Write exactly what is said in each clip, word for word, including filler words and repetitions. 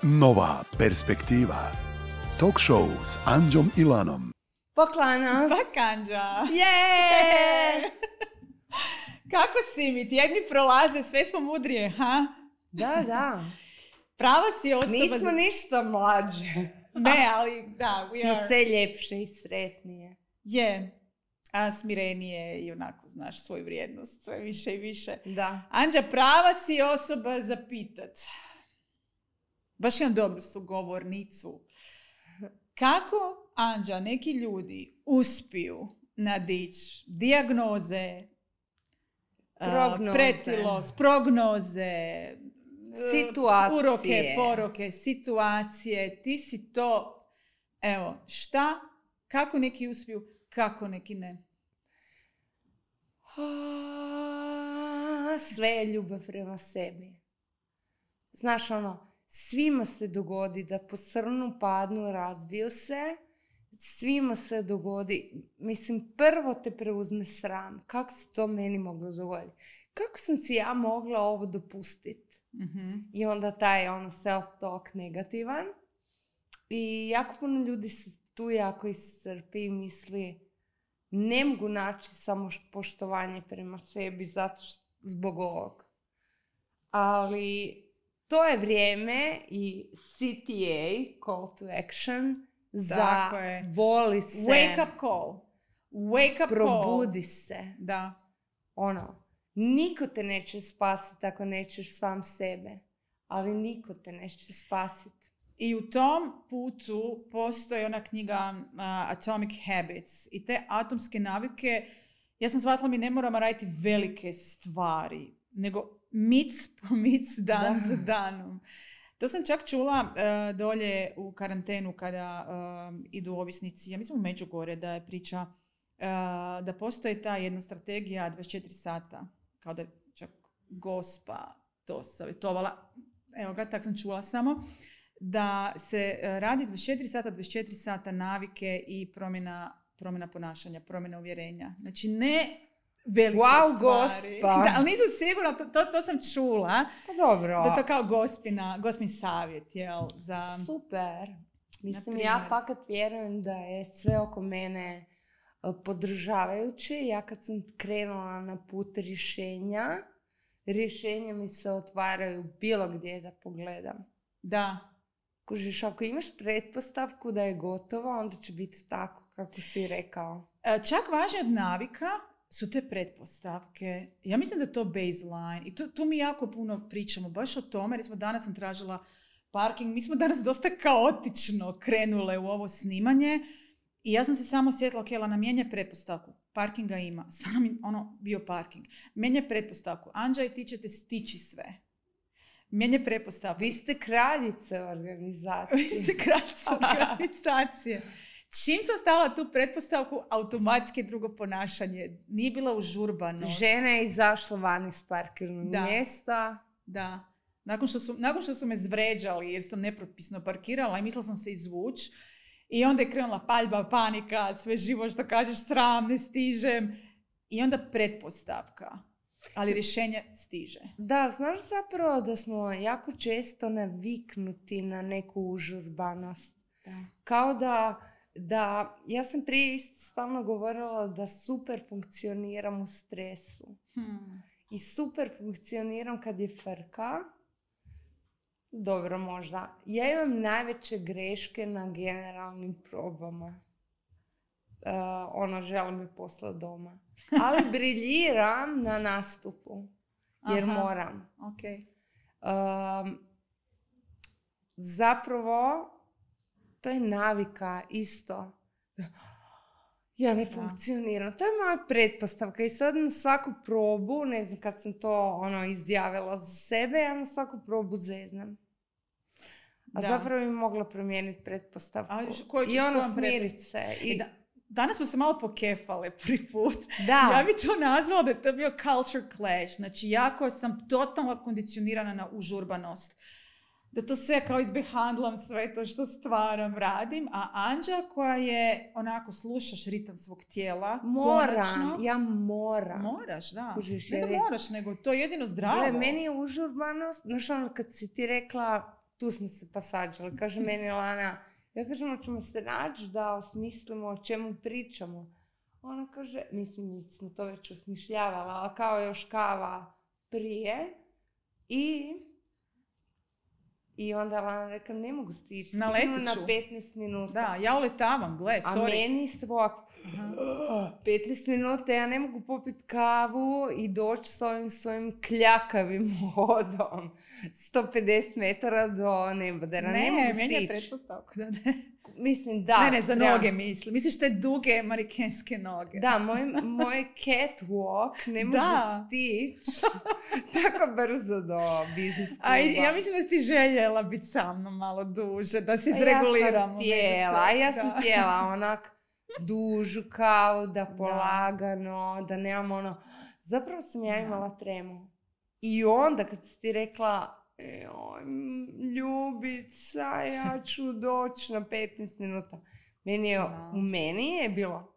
Nova perspektiva. Talk show s Anđom i Lanom. Poklana. Pak Anđa. Je! Kako si mi? Tjedni prolaze, sve smo mudrije, ha? Da, da. Prava si osoba... Nismo za... ništa mlađe. Ne, ali da, we Smo are... sve ljepše i sretnije. Je. A smirenije i onako znaš svoju vrijednost, sve više i više. Da. Anđa, prava si osoba za pitat. Baš imam dobru sugovornicu. Kako, Anđa, neki ljudi uspiju nadići dijagnoze, Prognoze. pretilost, prognoze, Situacije. uroke, poroke, situacije. Ti si to, evo, šta, kako neki uspiju, kako neki ne. Sve je ljubav prema sebi. Znaš ono, svima se dogodi da posrnu, padnu, razbiju se. Svima se dogodi, mislim, prvo te preuzme sram. Kako se to meni moglo dogoditi? Kako sam si ja mogla ovo dopustiti? Mm-hmm. I onda taj ono self-talk negativan. I jako puno ljudi se tu jako iscrpi i misli ne mogu naći samo poštovanje prema sebi zato što, zbog ovog. Ali to je vrijeme i C T A, call to action, za voli se. Wake up call. Wake up probudi call. se. Da. Ono, niko te neće spasiti ako nećeš sam sebe. Ali niko te neće spasiti. I u tom putu postoji ona knjiga uh, Atomic Habits. I te atomske navike, ja sam shvatila mi ne moramo raditi velike stvari, nego mic po mic, dan da. za danom. To sam čak čula uh, dolje u karantenu kada uh, idu ovisnici, ja mislim u Međugorje, da je priča uh, da postoji ta jedna strategija dvadeset četiri sata, kao da je čak Gospa to savjetovala, evo ga, tak sam čula samo, da se radi dvadeset četiri sata, dvadeset četiri sata navike i promjena, promjena ponašanja, promjena uvjerenja. Znači ne velike wow, stvari. Gospa. Da, ali nisam sigurna, to, to, to sam čula. Pa dobro. Da to kao gospina, gospin savjet, jel? Za... Super. Mislim, Naprimjer. ja fakat vjerujem da je sve oko mene podržavajuće. Ja kad sam krenula na put rješenja, rješenja mi se otvaraju bilo gdje da pogledam. Da. Kužiš, ako imaš pretpostavku da je gotovo, onda će biti tako kako si rekao. Čak važnije od navika su te pretpostavke. Ja mislim da je to baseline. I tu, tu mi jako puno pričamo baš o tome. Jer smo danas sam tražila parking. Mi smo danas dosta kaotično krenule u ovo snimanje. I ja sam se samo sjetila, ok, Lana, mijenja pretpostavku. Parkinga ima. Stvarno mi ono bio parking. Mijenja pretpostavku. Anđa i ti ćete stići sve. Mijenja pretpostavku. Vi ste kraljice organizacije. Vi ste kraljice organizacije. Čim sam stavila tu pretpostavku, automatski drugo ponašanje. Nije bila užurbanost. Žena je izašla van iz parkirnog da. mjesta. Da. Nakon što, su, nakon što su me zvređali jer sam nepropisno parkirala i mislila sam se izvući. I onda je krenula paljba, panika, sve živo što kažeš, sram, ne stižem. I onda pretpostavka. Ali rješenje stiže. Da, znaš zapravo da smo jako često naviknuti na neku užurbanost. Da. Kao da, da, ja sam prije isto stalno govorila da super funkcioniram u stresu. Hmm. I super funkcioniram kad je frka. Dobro, možda. Ja imam najveće greške na generalnim probama. Uh, ono, želim je poslati doma. Ali briljiram na nastupu. Jer Aha. moram. Okay. Um, zapravo, to je navika isto. Ja ne funkcioniram. To je moja pretpostavka. I sad na svaku probu, ne znam kad sam to ono izjavila za sebe, ja na svaku probu zeznam. A da. zapravo bi mogla promijeniti pretpostavku. A, koju I ono smirit se. I... I da, danas smo se malo pokefale prvi put. Da. Ja bi to nazvala da je to bio culture clash. Znači, jako sam totalno kondicionirana na užurbanost. Da to sve kao izbehandlam, sve to što stvaram, radim. A Anđa koja je, onako, slušaš ritam svog tijela. Moram, konačno, ja moram. Moraš, da. Kužiš, ne da je... moraš, nego to je jedino zdravo. Gle, meni je užurbanost, znaš ono kad si ti rekla tu smo se pa svađali. Kaže meni Lana, ja kažem, ćemo se naći da osmislimo o čemu pričamo. Ona kaže, mislim, mi smo to već osmišljavali, ali kao još kava prije. I, i onda Lana rekla, ne mogu stići. Naletit na ću. petnaest minuta. Da, ja uletavam, gle, sorry. A meni svak, petnaest minuta, ja ne mogu popiti kavu i doći s ovim svojim kljakavim hodom. sto pedeset metara do nebodera. Ne, ne mogu stići. Ne, meni je pretpostavka da ne. Mislim, da. Ne, ne, za treba. noge mislim. Misliš te duge manikenske noge. Da, moj, moj catwalk ne može Da. stići tako brzo do biznis kluba. A ja mislim da si ti željela biti sa mnom malo duže, da se izreguliramo. Ja sam tijela, ja sam Da. tijela onak dužu kavu, da polagano, da nemam ono... Zapravo sam ja imala tremu. I onda kad si ti rekla, joj, ljubica, ja ću doći na petnaest minuta. Meni je, Da. u meni je bilo,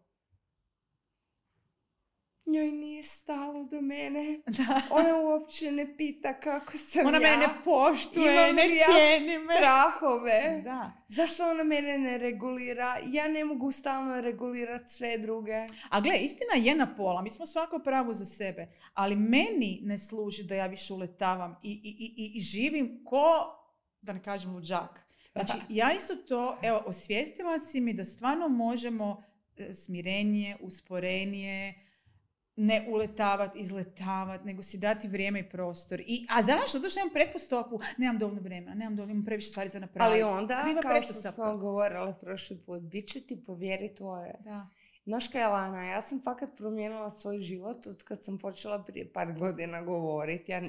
njoj nije stalo do mene. Da. Ona uopće ne pita kako sam Ona ja. mene ne poštuje, Imam ne li ja cijeni me. strahove. Da. Zašto ona mene ne regulira? Ja ne mogu stalno regulirati sve druge. A gle, istina je na pola, mi smo svako pravo za sebe, ali meni ne služi da ja više uletavam i, i, i, i živim ko, da ne kažem luđak. Znači, ja isto to, evo, osvijestila si mi da stvarno možemo e, smirenije, usporenije, ne uletavati, izletavati, nego si dati vrijeme i prostor. I, a zašto? Zato što imam pretpostavku, nemam dovoljno vremena, nemam dovoljno, imam previše stvari za napraviti. Ali onda, Kriva kao što pretpostavka. smo govorili prošli put, bit će ti povjeri tvoje. Da. Znaš kaj, Lana, ja sam fakat promijenila svoj život od kad sam počela prije par godina govoriti. Ja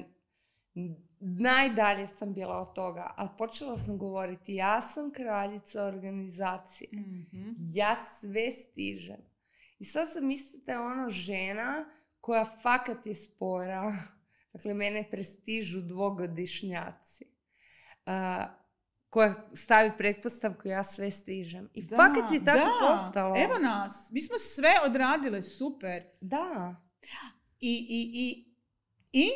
najdalje sam bila od toga, ali počela sam govoriti, ja sam kraljica organizacije. Mm-hmm. Ja sve stižem. I sad sam mislite ono žena koja fakat je spora. Dakle, mene prestižu dvogodišnjaci. Uh, koja stavi pretpostavku ja sve stižem. I Da, fakat je tako da. postalo. Evo nas, mi smo sve odradile, super. Da. I, i, i, i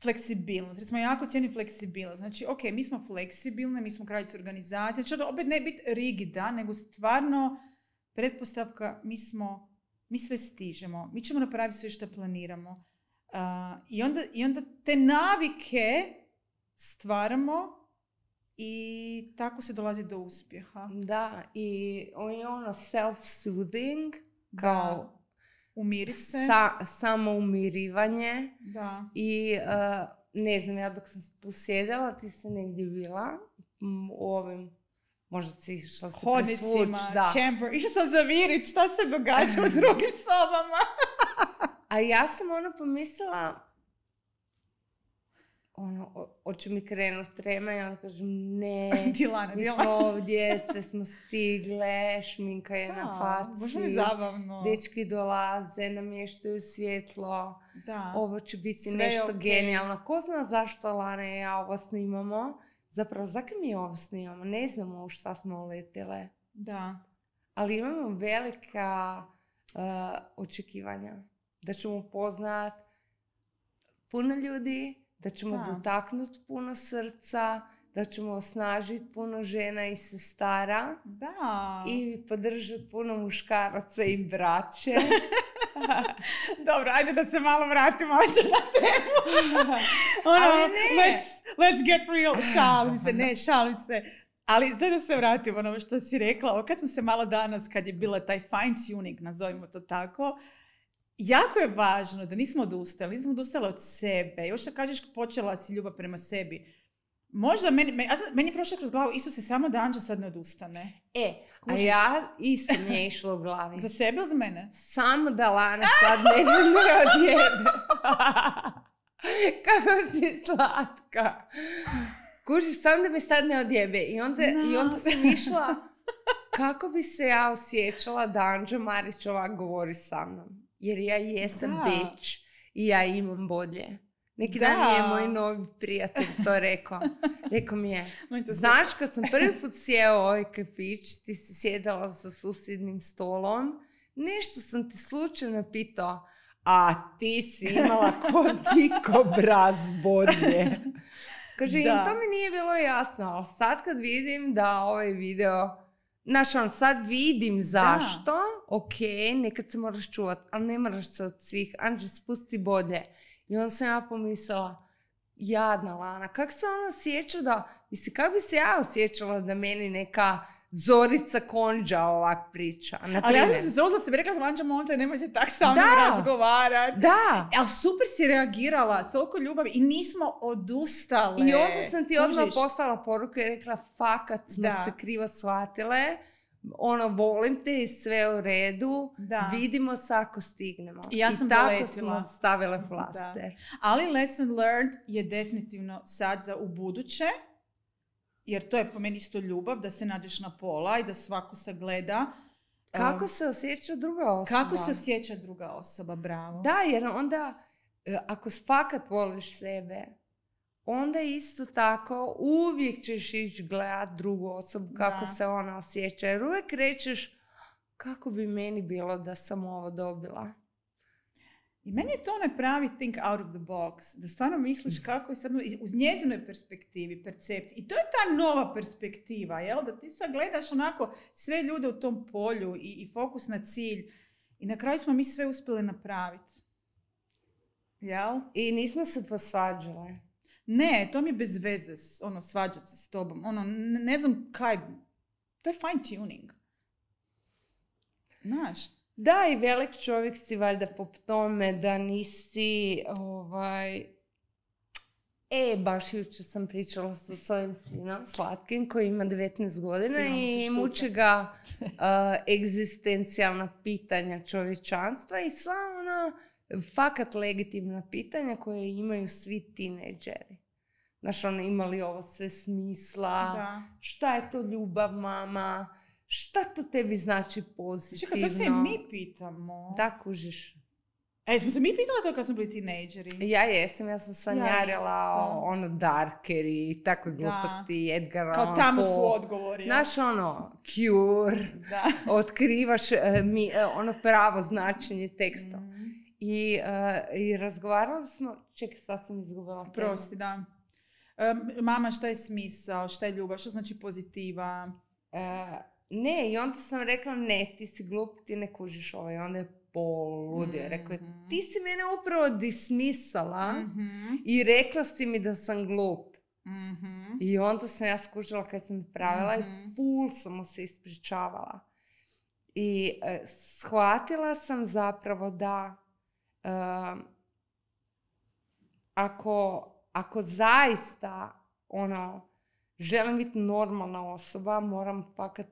fleksibilnost. Recimo, jako cijenim fleksibilnost. Znači, ok, mi smo fleksibilne, mi smo kraljice organizacije. Znači, to opet ne biti rigida, nego stvarno pretpostavka, mi smo, mi sve stižemo. Mi ćemo napraviti sve što planiramo. Uh, i, onda, I onda te navike stvaramo i tako se dolazi do uspjeha. Da, i on je ono self-soothing, kao Da. Umiri se. sa, samoumirivanje. Da. I uh, ne znam, ja dok sam tu sjedila, ti si negdje bila m, u ovim, možda si išla se presvuć. Hodnicima, Da. chamber. Išla sam zavirit šta se događa u drugim sobama. A ja sam ono pomislila, ono, o- hoće mi krenut trema i onda kažem ne, Dilana, mi smo Dilana. ovdje, sve smo stigle, šminka je na Možda mi faci, zabavno. dečki dolaze, namještaju svjetlo, Da. ovo će biti Sve je nešto okej. genijalno. Ko zna zašto Lana i ja ovo snimamo? Zapravo, zakaj mi ovo snimamo? Ne znamo u šta smo uletile. Da. Ali imamo velika uh, očekivanja. Da ćemo upoznat puno ljudi, da ćemo Da. dotaknuti puno srca, da ćemo osnažiti puno žena i sestara Da. i podržati puno muškaraca i braće. Dobro, ajde da se malo vratimo ođe na temu. ono, Ali ne. let's, let's get real. Šalim se, ne, šalim se. Ali sad da se vratimo na ovo što si rekla. Ovo kad smo se malo danas, kad je bila taj fine tuning, nazovimo to tako, jako je važno da nismo odustali, nismo odustali od sebe. Još što kažeš, počela si ljubav prema sebi. Možda meni, meni, ja sam- meni je prošlo kroz glavu, Isuse, samo da Anđa sad ne odustane. E, a Kužiš? ja isto mi je išlo u glavi. Za sebe ili za mene? Samo da Lana sad mene ne odjebe. Kako si slatka. Kužiš, samo da me sad ne odjebe. I onda, i onda sam išla kako bi se ja osjećala da Anđa Marić ovak govori sa mnom. Jer ja jesam Da. bitch i ja imam bolje. Neki Da. dan mi je moj novi prijatelj to rekao. Rekao mi je, Meni to znaš kad sam prvi put sjeo u ovaj kafić, ti si sjedala za susjednim stolom, nešto sam ti slučajno pitao, a ti si imala ko diko braz bolje. Kaže, im Da. to mi nije bilo jasno, ali sad kad vidim da ovaj video, znaš, on, sad vidim zašto, ok, nekad se moraš čuvat, ali ne moraš se od svih, Anđe, spusti bolje. I onda sam ja pomislila, jadna Lana, kak se ona osjeća da, mislim, kako bi se ja osjećala da meni neka Zorica Konđa ovak priča, na Ali ja sam primjer. se zozla se, rekla sam, Anđa, molim te, nemoj se tak sa mnom Da. razgovarati. Da. Ali super si reagirala, s toliko ljubavi i nismo odustale. I onda sam ti odmah Kužiš? poslala poruku i rekla, fakat smo Da. se krivo shvatile, ono, volim te i sve u redu, Da. vidimo se ako stignemo. I ja sam tako doletila. smo stavile flaster. Ali lesson learned je definitivno sad za ubuduće, jer to je po meni isto ljubav, da se nađeš na pola i da svako sagleda. Kako um, se osjeća druga osoba? kako se osjeća druga osoba, bravo. Da, jer onda, e, ako fakat voliš sebe, onda isto tako uvijek ćeš ići gledat drugu osobu kako Da. se ona osjeća. Jer uvijek rećeš, kako bi meni bilo da sam ovo dobila. I meni je to onaj pravi think out of the box, da stvarno misliš kako je sad, uz njezinoj perspektivi, percepciji. I to je ta nova perspektiva, jel? Da ti sad gledaš onako sve ljude u tom polju i, i fokus na cilj. I na kraju smo mi sve uspjeli napraviti. Jel? I nismo se posvađale. Ne, to mi je bez veze, s- ono, svađati se s tobom. Ono, ne, ne znam kaj, to je fine tuning. Znaš? Da, i velik čovjek si valjda po tome da nisi, ovaj... E, baš jučer sam pričala sa svojim sinom, Slatkim, koji ima devetnaest godina Sinom se i štuca. muči ga uh, egzistencijalna pitanja čovječanstva i sva ona fakat legitimna pitanja koje imaju svi tinejdžeri. Znaš, ono, ima li ovo sve smisla? Da. Šta je to ljubav, mama? Šta to tebi znači pozitivno? Čekaj, to se i mi pitamo. Da, kužiš. E, smo se mi pitali to kad smo bili tinejdžeri? Ja jesam, ja sam sanjarila isto. ono Darkeri i takve Da. gluposti, Edgar Kao Allan tamo Poe. su odgovori. jel? Znaš, ono, cure, Da. otkrivaš e, mi, e, ono pravo značenje teksta. Mhm. I, e, I razgovarali smo, čekaj, sad sam izgubila temu. Prosti, da. Em, mama, šta je smisao, šta je ljubav, što znači pozitiva? E, ne, i onda sam rekla, ne, ti si glup, ti ne kužiš ovo. I onda je poludio. Rekao je, Mhm. ti si mene upravo dismisala Mhm. i rekla si mi da sam glup. Mhm. I onda sam ja skužila kad sam pravila Mhm. i ful sam mu se ispričavala. I e, shvatila sam zapravo da e, ako, ako zaista ono, želim biti normalna osoba, moram fakat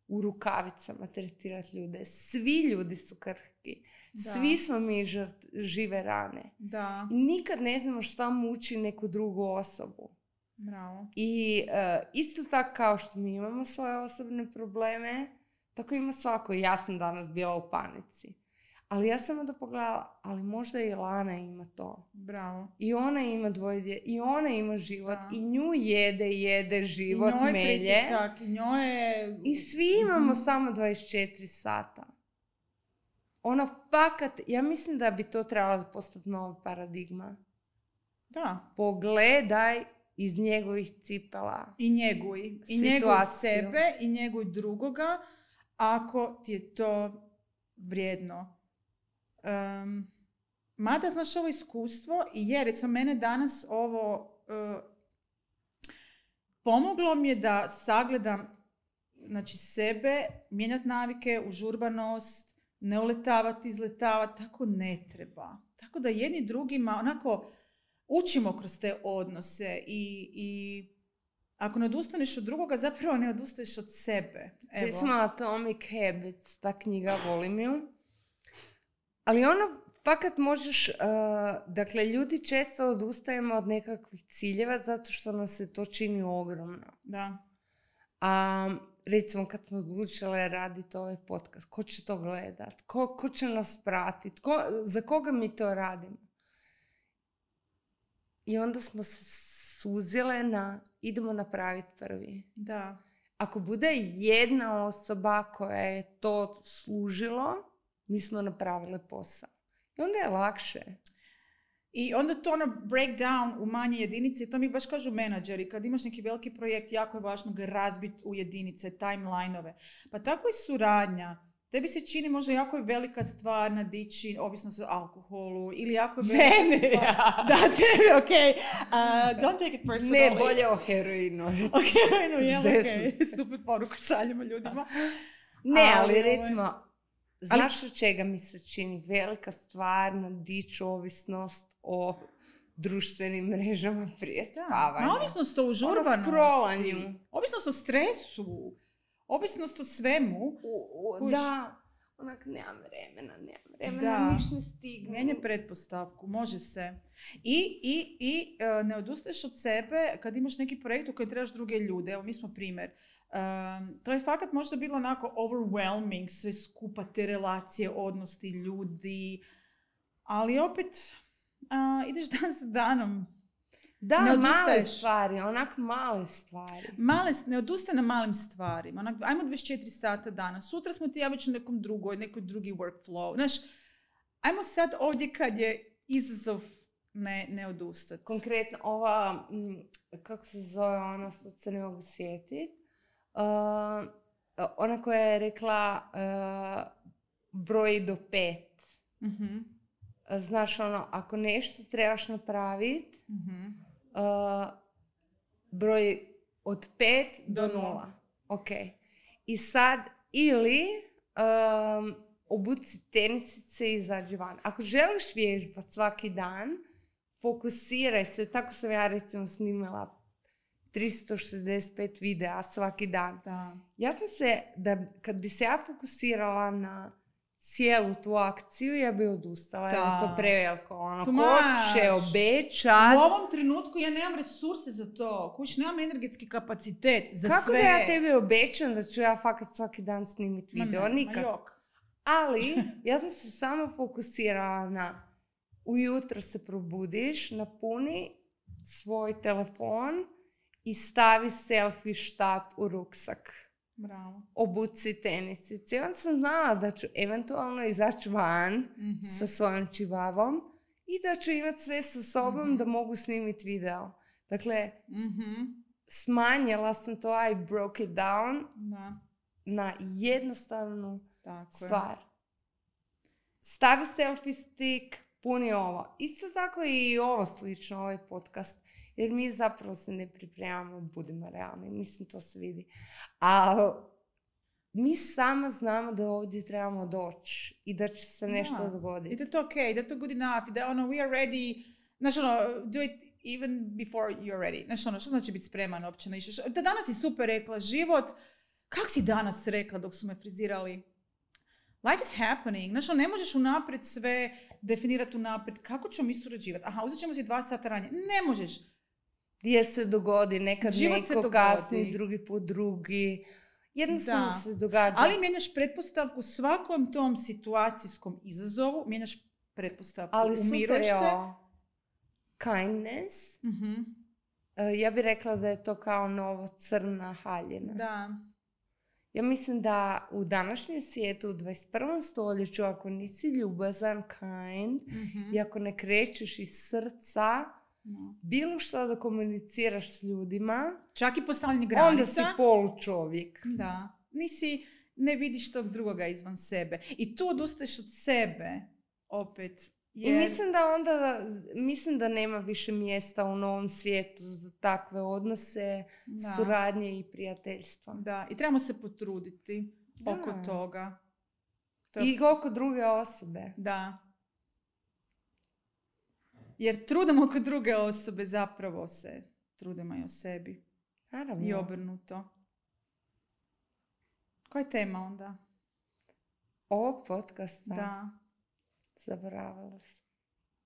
u rukavicama tretirati ljude. Svi ljudi su krhki. Da. Svi smo mi žrt, žive rane. Da, I nikad ne znamo šta muči neku drugu osobu. bravo. I e, isto tako kao što mi imamo svoje osobne probleme, tako ima svako. Ja sam danas bila u panici. Ali ja sam onda pogledala, ali možda i Lana ima to. Bravo. I ona ima dvoje dje, i ona ima život, Da. i nju jede, jede život, I njoj melje. pritisak, i njoj je... I svi imamo Mhm. samo dvadeset četiri sata. Ono, fakat, ja mislim da bi to trebalo postati nova paradigma. Da. Pogledaj iz njegovih cipela. I njeguj. I njeguj Situaciju. sebe, i njeguj drugoga, ako ti je to vrijedno. Um, mada, znaš, ovo iskustvo, i je, recimo, mene danas ovo uh, pomoglo mi je da sagledam, znači, sebe, mijenjati navike, užurbanost, ne uletavati, izletavati, tako ne treba. Tako da jedni drugima, onako, učimo kroz te odnose i, i ako ne odustaneš od drugoga, zapravo ne odustaješ od sebe. Evo. Recimo Atomic Habits, ta knjiga, volim ju. Ali ono, fakat možeš, uh, dakle, ljudi često odustajemo od nekakvih ciljeva zato što nam se to čini ogromno. Da. A recimo kad smo odlučile raditi ovaj podcast, ko će to gledat? Ko, ko će nas pratiti? Ko, za koga mi to radimo? I onda smo se suzile na idemo napraviti prvi. Da. Ako bude jedna osoba koja je to služilo, mi smo napravile posao. I onda je lakše. I onda to ono break down u manje jedinice, to mi baš kažu menadžeri, kad imaš neki veliki projekt, jako je važno ga razbiti u jedinice, timeline-ove. Pa tako i suradnja. Tebi se čini možda jako je velika stvar nadići, ovisno o alkoholu, ili jako je velika Mene, stvar... ja. Da, tebi, okej. Okay. Uh, don't take it personally. Ne, bolje o heroinu. O heroinu, jel, okej. Zesno. Super poruku šaljemo ljudima. Ne, ali, Ali, recimo, znaš od čega mi se čini velika stvar nadići ovisnost o društvenim mrežama prije spavanja. Ma ovisnost o užurbanosti. Ono scrollanju. Ovisnost o stresu. Ovisnost o svemu. U, u, Kuš. da, onak nemam vremena, nemam vremena, Da. niš ne stignu. Mijenja pretpostavku, može se. I, i, i uh, ne odustaješ od sebe kad imaš neki projekt u kojem trebaš druge ljude. Evo, mi smo primjer. Um, to je fakat možda bilo onako overwhelming, sve skupa, te relacije, odnosti, ljudi. Ali opet, uh, ideš dan za danom. Da, Ne male odustaješ. stvari, onak male stvari. Male, ne odustaje na malim stvarima. Onak, ajmo dvadeset četiri sata dana. Sutra smo ti ja već u nekom drugoj, nekoj drugi workflow. Znaš, ajmo sad ovdje kad je izazov ne, ne odustati. Konkretno, ova, m, kako se zove ona, sad se ne mogu sjetiti, uh, ona koja je rekla uh, broj do pet. Mhm, Znaš, ono, ako nešto trebaš napraviti, mhm. uh, broj od pet do Do nula. nula. Ok. I sad, ili um, obuci tenisice i izađi van. Ako želiš vježbati svaki dan, fokusiraj se. Tako sam ja recimo snimala tristo šezdeset pet videa svaki dan. Da. Ja sam se, da kad bi se ja fokusirala na cijelu tu akciju, ja bi odustala, jer je to Da. preveliko. Ono, Too ko much. će obećat? U ovom trenutku ja nemam resurse za to. Kuć, nemam energetski kapacitet za Kako sve. da ja tebi obećam da ću ja fakat svaki dan snimiti Ma video? ne, ma Nikako. jok. Ali, ja sam se samo fokusirala na ujutro se probudiš, napuni svoj telefon i stavi selfie štap u ruksak. Bravo. Obuci tenisice. I onda sam znala da ću eventualno izaći van Mhm. sa svojom čivavom i da ću imati sve sa sobom Mhm. da mogu snimiti video. Dakle, Mhm. smanjila sam to, I broke it down Da, na jednostavnu tako je. stvar. Stavi selfie stick, puni ovo. Isto tako i ovo slično, ovaj podcast. Jer mi zapravo se ne pripremamo, budimo realni. Mislim, to se vidi. Ali mi samo znamo da ovdje trebamo doći i da će se nešto Da. I dogoditi. da je to ok, da je to good enough, i da ono, we are ready, znaš ono, do it even before you're ready. Znaš ono, što znači biti spreman uopće na išće? Da danas si super rekla, život, kak si danas rekla dok su me frizirali? Life is happening. Znaš ono, ne možeš unaprijed sve definirati unaprijed. Kako ćemo mi surađivati? Aha, uzet ćemo si dva sata ranije. Ne možeš. Jer se dogodi, nekad Život se neko dogodi. kasni, drugi put drugi. Jednostavno Da. se događa. Ali mijenjaš pretpostavku svakom tom situacijskom izazovu, mijenjaš pretpostavku, Ali super umiruješ je se. ovo. Kindness. Mhm. E, Ja bih rekla da je to kao novo crna haljina. Da. Ja mislim da u današnjem svijetu, u dvadeset prvom stoljeću, ako nisi ljubazan, kind, Mhm. i ako ne krećeš iz srca, No. bilo što da komuniciraš s ljudima, Čak i postavljanje granica. onda si polučovjek. Da. Nisi, ne vidiš tog drugoga izvan sebe. I tu odustaješ od sebe, opet. I Jer... mislim da onda, mislim da nema više mjesta u novom svijetu za takve odnose, Da. suradnje i prijateljstva. Da, i trebamo se potruditi Da. oko toga. To je- I oko druge osobe. Da. Jer trudom oko druge osobe zapravo se trudimo i o sebi. Naravno. I obrnuto. Koja je tema onda? Ovog podcasta Da. zaboravila sam.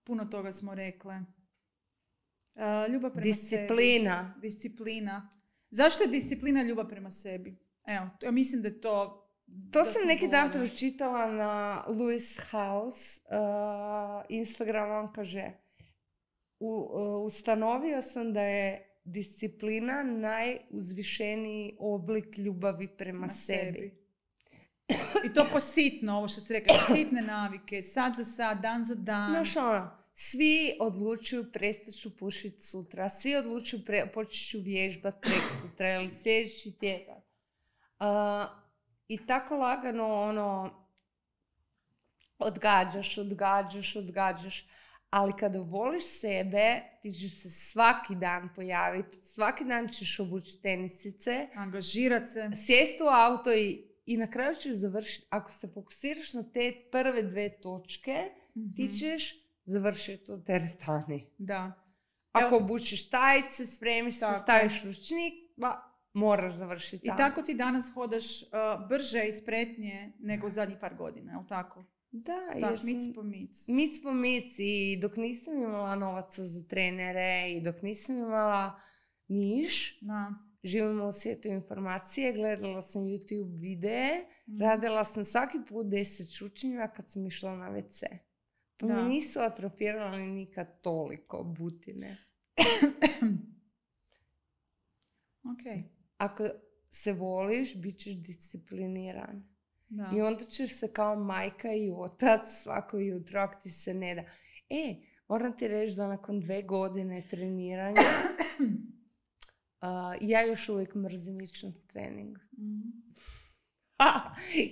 Puno toga smo rekle. Uh, ljubav prema Disciplina. sebi. Disciplina. Zašto je disciplina ljubav prema sebi? Evo, ja mislim da je to... To da sam smo neki dan govorili. pročitala na Lewis House uh, Instagram, on kaže u, uh, ustanovio sam da je disciplina najuzvišeniji oblik ljubavi prema Na sebi. I to positno, ovo što si rekla, sitne navike, sad za sad, dan za dan. Znaš ono, Svi odlučuju prestaću pušiti sutra, svi odlučuju pre, počet ću vježbat prek sutra ili sljedeći tjedan. Uh, I tako lagano ono, odgađaš, odgađaš, odgađaš. Ali kada voliš sebe, ti ćeš se svaki dan pojaviti, svaki dan ćeš obući tenisice, angažirat se, sjesti u auto i, i na kraju ćeš završiti. Ako se fokusiraš na te prve dve točke, mm-hmm. ti ćeš završiti u teretani. Da. Ako Evo, obučiš tajice, spremiš tako. se, staviš ručnik, ba, moraš završiti tamo. I tako ti danas hodaš uh, brže i spretnije nego zadnjih par godina, je li tako? Da, da jer mic po mic. Mic po mic i dok nisam imala novaca za trenere i dok nisam imala niš, da. Živimo u svijetu informacije, gledala sam YouTube videe, mm. radila sam svaki put deset čučnjeva kad sam išla na ve ce. Pa da. Mi nisu atrofirali nikad toliko butine. Ok. Ako se voliš, bit ćeš discipliniran. Da. I onda ćeš se kao majka i otac svako jutro, ako ti se ne da. E, moram ti reći da nakon dve godine treniranja uh, ja još uvijek mrzim ići na trening. Mm.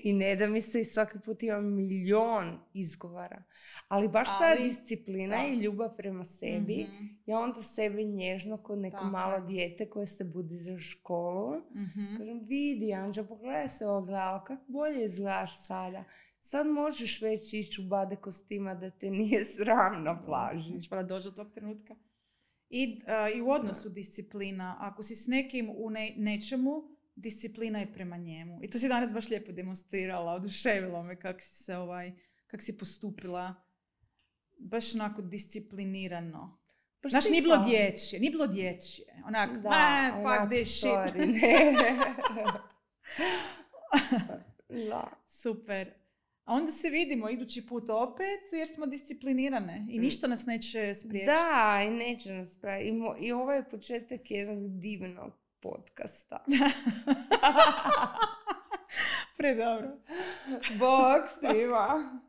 I ne da mi se i svaki put imam milion izgovara. Ali baš ta Ali, disciplina da. i ljubav prema sebi, mm-hmm. ja onda sebe nježno kod neko Tako. malo dijete koje se budi za školu. Mm-hmm. Kažem, vidi Anđa, pogledaj se ogledalo, kako bolje izgledaš sada. Sad možeš već ići u bade kostima da te nije sram na plaži. Znači, pa da dođe do tog trenutka. I, uh, I u odnosu disciplina. Ako si s nekim u ne, nečemu, disciplina je prema njemu. I to si danas baš lijepo demonstrirala. Oduševilo me kako si se ovaj, kako si postupila. Baš onako disciplinirano. Pa Znaš, nije bilo dječje. Nije bilo dječje. Onak, da, ah, fuck this shit. Da. Super. A onda se vidimo idući put opet jer smo disciplinirane. I ništa nas neće spriječiti. Da, i neće nas spriječiti. I, mo- I ovo je početak jednog divnog podcasta. Predobro. Bog svima.